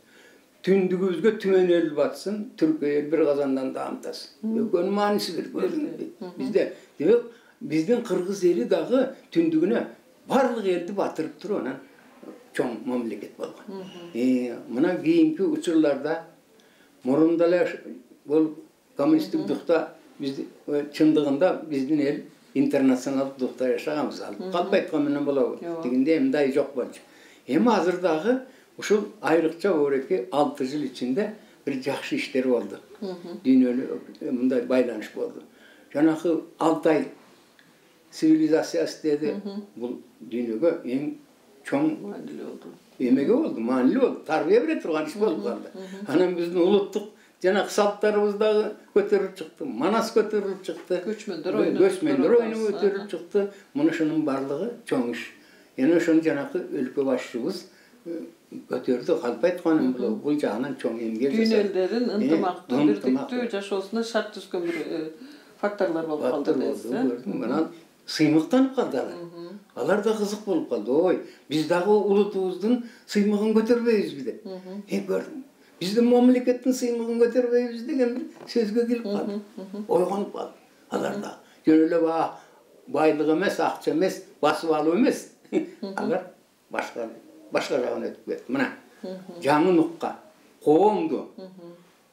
Түндүгүбүзгө түмөн эл батсын, түркө эл бир казандан даамтасын. Экөөнүн мааниси бир. Бизде, демек, биздин кыргыз эли дагы түндүгүнө барлык элди батырып туруп, анан чоң мамлекет болгон. Мына кийинки учурларда мурунда эле бул коммунисттик духта бизди чындыгында биздин эл интернационалдык духта жашаганбыз. Калп айткан менен болобу? Тигинде мындай жок болчу. Эми азыр дагы ушул айрыкча бореки алты жыл ичинде бир жакшы иштер болду. Дүйнөлүк мындай байланыш болду. Жанакы Алтай цивилизациясы деди, бул дүйнөгө эң чоң маанилүү болду. Эмеге болду, маанилүү болду. Тарбия бере турган иш болуп калды. Анан биздин улуттук жанагы салттарыбыз дагы көтөрүлүп чыкты, манас көтөрүлүп чыкты, көчмөндөр ойноп көчмөндөр ойноп көтөрүлүп чыкты. Мунушунун барлыгы чоң иш. Эне ошону жанакы өлкө башчыбыз көтөрдү. Калп айтканым бул бул жагынан чоң эмгек жасады. Дүйнө элдерин ынтымактуу, бирдиктүү жашоосуна шарт түзгөн бир факторлор болуп калды дейсиз. Мына сыймыктанып калды алар. Алар да кызык болуп калды. Ой, биз дагы улутубуздун сыймыгын көтөрбөйбүзбү деп. Э көрдүм. Биздин мамлекеттин сыймыгын көтөрбөйбүз деген бир сөзгө келип калды. Ойгонуп калды. Алар да жөн эле байлык эмес, акча эмес, басып алуу эмес. Алар башка башка жагына өтүп кетти. Мына жаңы нукка, коомду,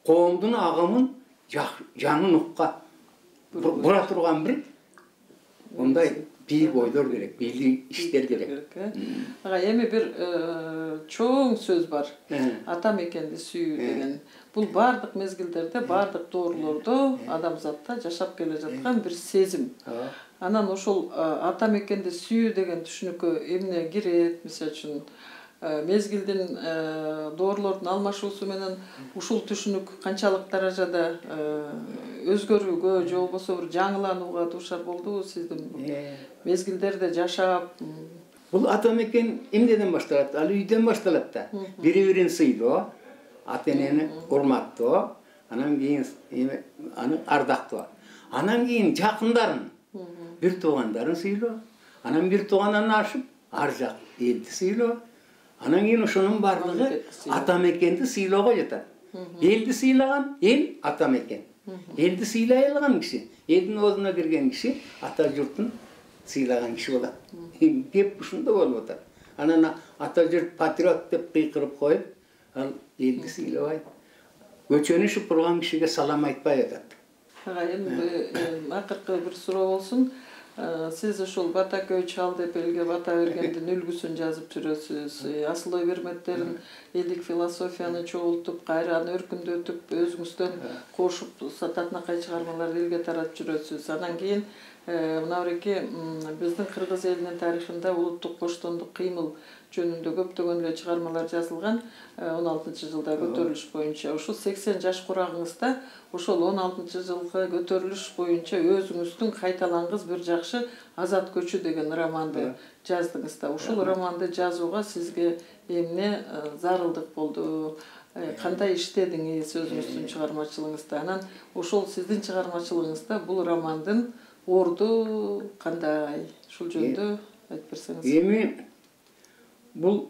коомдун агымын жаңы нукка бура турган бир мындай бийик ойлор керек, бийик иштер керек. Ага эми бир чоң сөз бар. Ата мекенди сүйүү деген. Бул бардык мезгилдерде, бардык доорлордо адамзатта жашап келе жаткан бир сезим. Анан ошол ата мекенди сүйүү деген түшүнүккө эмне кирет? Мисалы үчүн мезгилдин доорлордун алмашуусу менен ушул түшүнүк канчалык даражада өзгөрүүгө же болбосо бир жаңыланууга дуушар болдубу сиздин мезгилдерде жашап? Бул ата мекен эмнеден башталат? Ал үйдөн башталат да. Бири-бирин сыйлоо, ата энени урматтоо, анан кийин аны ардактоо. Анан кийин жакындарын, бир туугандарын сыйлоо, анан бир туугандан ашып ар жак элди сыйлоо. Анан кийин ошонун барлыгы ата мекенди сыйлоого жатат. Элди сыйлаган эл ата мекен. Элди сыйлай алган киши, элдин оозуна кирген киши ата журтун сыйлаган киши болот. Кеп ушунда болуп атат. Анан ата журт патриот деп кыйкырып коюп, ал элди сыйлабайт. Көчөнү шупурган кишиге салам айтпай атат. Ага, эми акыркы бир суроо болсун. Сиз ошол бата көй чал деп элге бата бергендин үлгүсүн жазып жүрөсүз. Асыл ой берметтерин, элдик философияны чогултуп, кайра аны өркүндөтүп, өзүңүздөн кошуп, татынакай чыгармаларды элге таратып жүрөсүз. Анан кийин мына бирки биздин кыргыз элинин тарыхында улуттук коштондук кыймыл жөнүндө көптөгөн эле чыгармалар жазылган. он алтынчы жылда көтөрүлүш боюнча ушул сексен жаш курагыңызда ошол он алтынчы жылкы көтөрүлүш боюнча өзүңүздүн кайталангыс бир жакшы Азат көчү деген романды жаздыңыз да. Ушул романды жазууга сизге эмне зарылдык болду? Кандай иштедиңиз өзүңүздүн чыгармачылыгыңызда? Анан ошол сиздин чыгармачылыгыңызда бул романдын орду кандай? Ушул жөнүндө айтып берсеңиз. Эми бул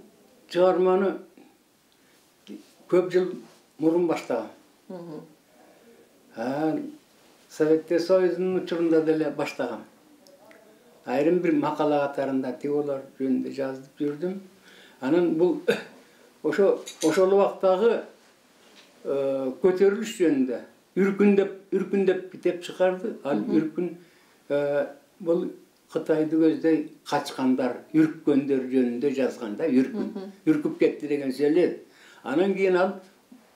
чыгарманы көп жыл мурун баштагам. Советтер Союзунун учурунда деле баштагам. Айрым бир макала катарында теолор жөнүндө жазып жүрдүм. Анан бул ошо ошол убактагы көтөрүлүш жөнүндө үркүндөп үркүндөп китеп чыгарды. Ал үркүн бул Кытайды көздөй качкандар, үрккөндөр жөнүндө жазганда, үркүн. Үркүп кетти деген сөйлөт. Анан кийин ал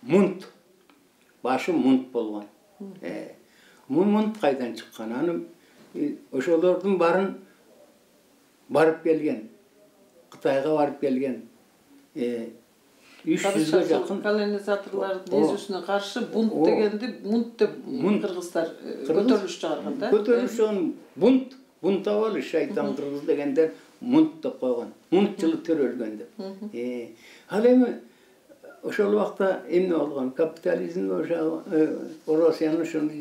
мунт, башы мунт болгон. Мун мунт кайдан чыккан? Аны ошолордун барын барып келген, Кытайга барып келген үч жүзгө жакын колонизаторлордун незүүсүнө каршы бунт дегенди мунт деп кыргыздар көтөрүлүш чыгарган да. Көтөрүлүш бунт Бунт авалы шайтан кыргыз дегендер мунт деп койгон. Мунт жылы төрөлгөн деп. Ал эми ошол убакта эмне болгон? Капитализм ошо Россиянын ошол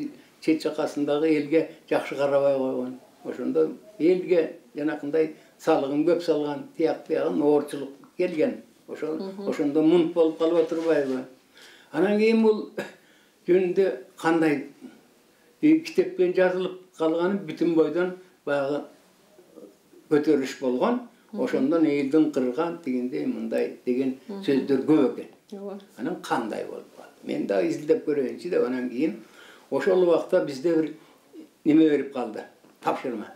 чет жакасындагы элге жакшы карабай койгон. Ошондо элге жанакындай салыгын көп салган, тияк биягын оорчулук келген. Ошол ошондо мунт болуп калып отурбайбы? Анан кийин бул жөнүндө кандай китепке жазылып калганы бүтүн бойдон баягы көтөрүлүш болгон. Ошондон элдин кырган тигиндей мындай деген сөздөр көп экен. Анан кандай болуп калды? Мен да изилдеп көрөйүнчү деп анан кийин ошол убакта бизде бир неме берип калды. Тапшырма.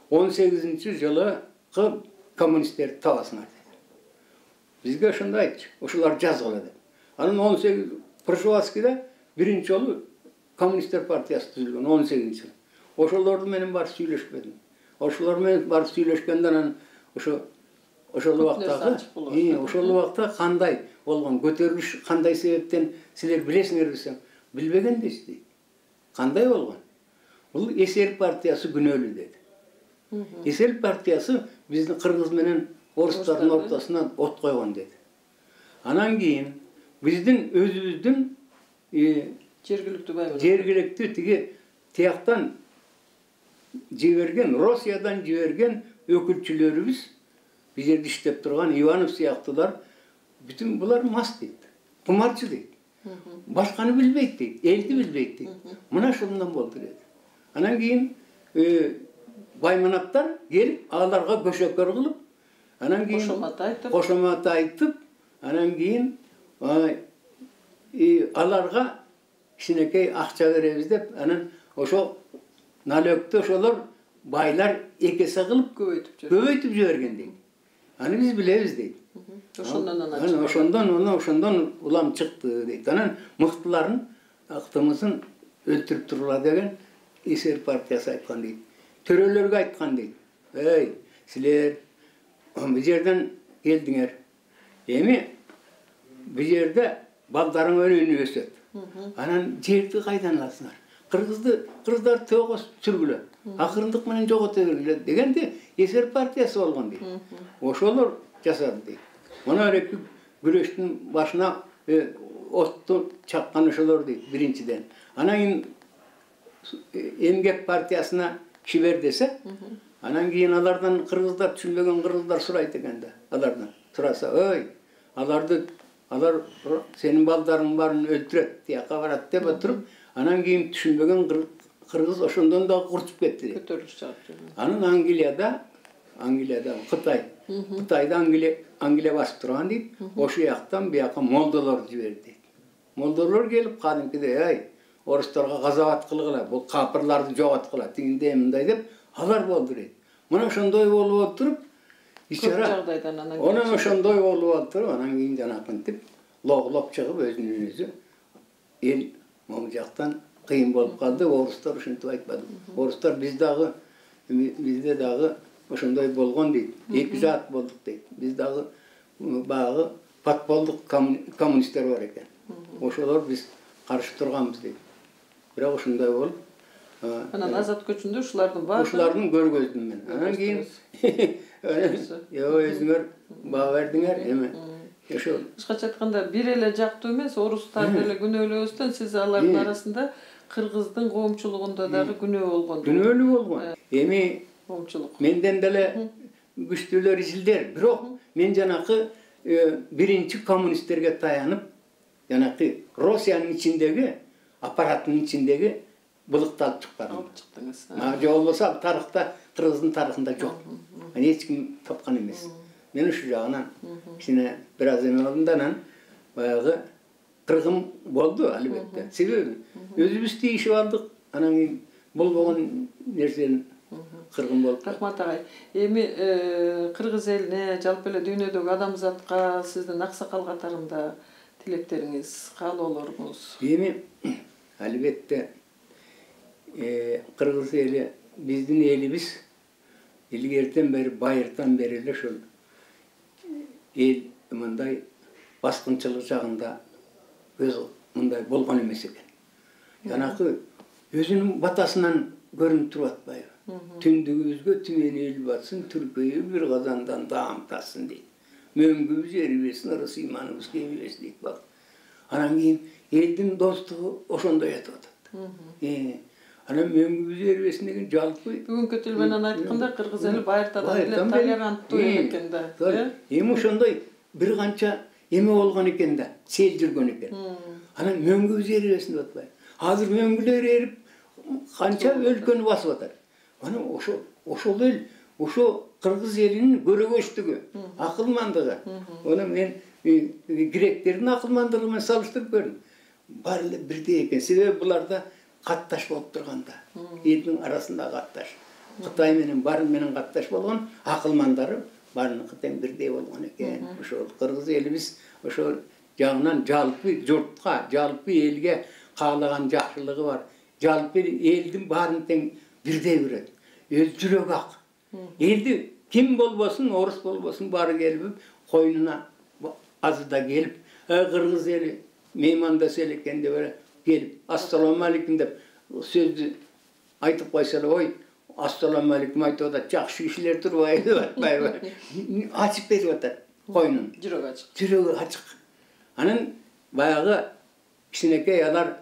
он сегизинчи жылы коммунисттерди табасыңар dedi. Бизге ошондой айтчу. Ошолор жазгыла деп. Анан он сегиз Прошварскийде биринчи жолу коммунисттер партиясы түзүлгөн он сегизинчи жылы. Ошолор менен барып сүйлөшпөдүм. Ошолор менен барып сүйлөшкөндөн анан ошо ошол убактагы, ошол убакта кандай болгон көтөрүлүш кандай себептен силер билесиңер десем, билбеген дейсиз дейт. Кандай болгон? Бул эсер партиясы күнөөлүү деди. Эсер партиясы биздин кыргыз менен орустардын ортосунан от койгон деди. Анан кийин биздин өзүбүздүн жергиликтүү баймыл жергиликтүү тиги тияктан жиберген, Россиядан жиберген өкүлчүлөрүбүз биз жерде иштеп турган Иванов сыяктуулар бүтүн булар мас дейт. Кумарчы дейт. Башканы билбейт дейт, элди билбейт дейт. Мына ошондон болду дейт. Анан кийин байманаптар келип аларга көшөкөр кылып, анан кийин кошомат айтып, кошомат айтып, анан кийин аларга кичинекей акча беребиз деп, анан ошо налогту ошолор байлар экесе кылып көбөйтүп көбөйтүп жиберген дейт. Аны биз билебиз дейт. Ошондон анан ошондон ошондон улам чыкты дейт. Анан мыктыларын актымызын өлтүрүп турула деген эсер партиясы айткан дейт. Төрөлөргө айткан дейт. Эй, силер бул жерден келдиңер. Эми бул жерде балдарың өнүгүп өсөт. Анан жерди кайдан аласыңар? Кыргызды кыргыздар тоого сүргүлө. Акырындык менен жогото бергиле дегенде эсер партиясы болгон дейт. Ошолор жасады дейт. Мына эки күрөштүн башына отту чаккан ошолор дейт биринчиден. Анан кийин эмгек партиясына кибер десе, анан кийин алардан кыргыздар түшүнбөгөн кыргыздар сурайт экен да. Алардан сураса, "Ой, аларды алар сенин балдарың барын өлтүрөт, тияка барат" деп отуруп, анан кийин түшүнбөгөн кыргыз ошондон да курчуп кетти дейт. Көтөрүлүш чыгып. Анан Англияда, Англияда Кытай, Кытайда Англия Англия басып турган дейт. Ошо жактан бияка молдолор жиберди дейт. Молдолор келип кадимкидей, "Ай, орустарга газабат кылгыла, бул капырларды жоготкула, тигиндей мындай" деп алар болду дейт. Мына ошондой болуп отуруп, ичара жагдайдан анан анан ошондой болуп отуруп, анан кийин жанакынтип логлоп чыгып өзүнүн өзү эл могу жактан кыйын болуп калды. Орустар ушинтип айтпады. Орустар биз дагы бизде дагы ошондой болгон дейт. Эки жаат болдук дейт. Биз дагы багы подполдук коммунисттер бар экен. Ошолор биз каршы турганбыз дейт. Бирок ошондой болуп, анан азат көчүндө ушулардын баары ушулардын көргөздүм мен. Анан кийин "Йо, өзүңөр баа бердиңер, эме ошо кыскача айтканда бир эле жактуу эмес, орустар деле күнөөлөөбүздөн сиз алардын арасында кыргыздын коомчулугунда дагы күнөө болгон. Күнөөлүү болгон. Эми коомчулук менден деле күчтүүлөр изилдер. Бирок мен жанакы биринчи коммунисттерге таянып, жанакы Россиянын ичиндеги аппараттын ичиндеги былыкты алып чыкканым. алып чыктыңыз. А же болбосо тарыхта, кыргыздын тарыхында жок. Аны эч ким тапкан эмес. Мен ушул жагынан кичине бир аз эме болдум да, анан баягы кыргын болду албетте. Себеби өзүбүз тийишип алдык. Анан кийин болбогон нерсени кыргын болуп. Рахмат агай. Эми кыргыз элине, жалпы эле дүйнөдөгү адамзатка сиздин аксакал катарында тилектериңиз, каалоолоруңуз? Эми албетте кыргыз эли биздин элибиз илгертен бери, байыртан бери эле ошол эл мындай баскынчылык жагында өз мындай болгон эмес экен. Жанакы өзүнүн батасынан көрүнүп туруп атпайбы? Түндүгүбүзгө түмен эл батсын, түркөйү бир казандан даам татсын дейт. Мөңгүбүз эрибесин, ырыс ыйманыбыз кемибесин дейт бак. Анан кийин элдин достугу ошондой өтүп атат. Анан мөңгүбүз эрибесин деген жалпы бүгүнкү тил менен айтканда кыргыз эли байыртадан эле толеранттуу эл экен да. Эми ошондой бир канча эме болгон экен да, сел жүргөн экен. Анан мөңгүбүз эрибесин деп атпайбы? Азыр мөңгүлөр эрип канча өлкөнү басып атат. Анан ошо ошол эл, ошо кыргыз элинин көрөгөчтүгү, акылмандыгы. Аны мен гректердин акылмандыгы менен салыштырып көрдүм. Баары эле бирдей экен. Себеби буларда катташ болуп турганда, элдин арасында катташ. Кытай менен барын менен катташ болгон, акылмандары баарыныкы тең бирдей болгон экен. Ошол кыргыз элибиз ошол жагынан жалпы журтка, жалпы элге каалаган жакшылыгы бар. Жалпы элдин баарын тең бирдей көрөт. Өз жүрөгү ак. Элди ким болбосун, орус болбосун, баары келип койнуна азыда келип, кыргыз эли меймандаса экен деп эле келип ассаламу алейкум деп сөздү айтып койсо эле, ой ассаламу алейкум айтып атат, жакшы кишилер турбайбы деп атпайбы, ачып берип атат койнун, жүрөгү ачык, жүрөгү ачык. Анан баягы кичинекей алар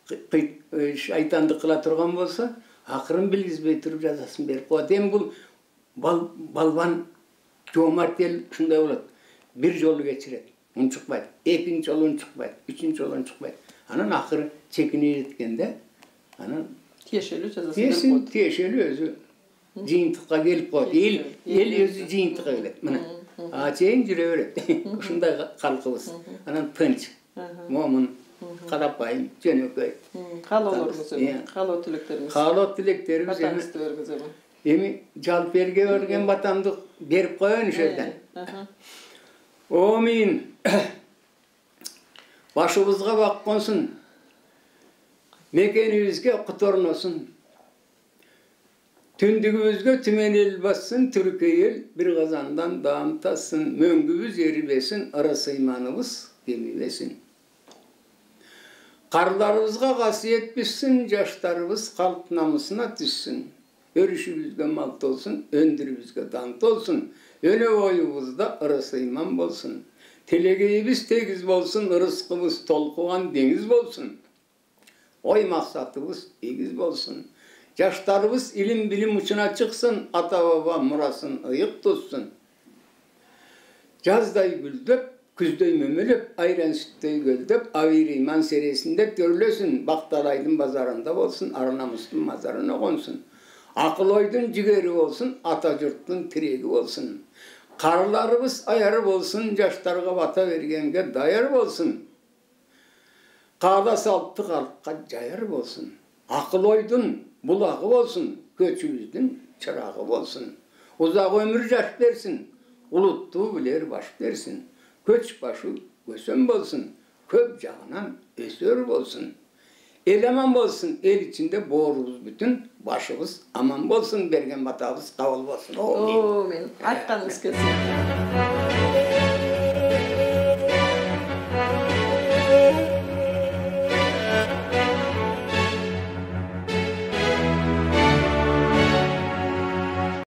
шайтандык кыла турган болсо, акырын билгизбей туруп жазасын берип коет. Эми бул балбан жоомарт эл ушундай болот. Бир жолу кечирет, унчукпайт. Экинчи жолу унчукпайт, үчүнчү жолу унчукпайт. Анан акыры чекине жеткенде, анан тиешелүү жазасын берип коет. Тиешелүү өзү жыйынтыкка келип коет. Эл эл өзү жыйынтыкка келет. Мына. А чейин жүрө берет. Ушундай калкыбыз. Анан тынч, момун, карапайым, жөнөкөй. Каалоолоруңуз, каалоо тилектериңиз. Каалоо тилектерибиз Батаңызды бериңиз эми. Эми жалп элге берген батамды берип коеюн ошол жерден. Омин. Башыбызга бак консун. Мекенибизге кут орносун. Түндүгүбүзгө түмен эл бассын, түркөй эл бир казандан даам тассын, мөңгүбүз эрибесин, ыры сыйманыбыз кемибесин. Карларыбызга касиет түссүн, жаштарыбыз калк намысына түссүн. Өрүшүбүзгө мал толсун, өндүрүбүзгө дан толсун, өнө боюбузда ыры сыйман болсун. Телегейибиз тегиз болсун, ырыскыбыз толкуган деңиз болсун. Ой максатыбыз эгиз болсун. Жаштарыбыз илим билим учуна чыксын, ата баба мурасын ыйык туссун. Жаздай гүлдөп, күздөй мөмөлөп, айран сүттөй көлдөп, авир иман сересинде төрлөсүн, Бакталайдын базарында болсун, ар намыстын мазарына консун. Акыл ойдун жигери болсун, ата журттун тиреги болсун. Карларыбыз аяр болсун, жаштарга бата бергенге даяр болсун. Каада салтты калкка жаяр болсун. Акыл ойдун булагы болсун, көчүбүздүн чырагы болсун. Узак өмүр жаш берсин, улуттуу билер баш берсин. Көч башы көсөм болсун, көп жагынан өсөр болсун. Эл аман болсун, эл ичинде боорубуз бүтүн, башыбыз аман болсун, берген батабыз кабыл болсун. О, мен айтканыңыз келсин.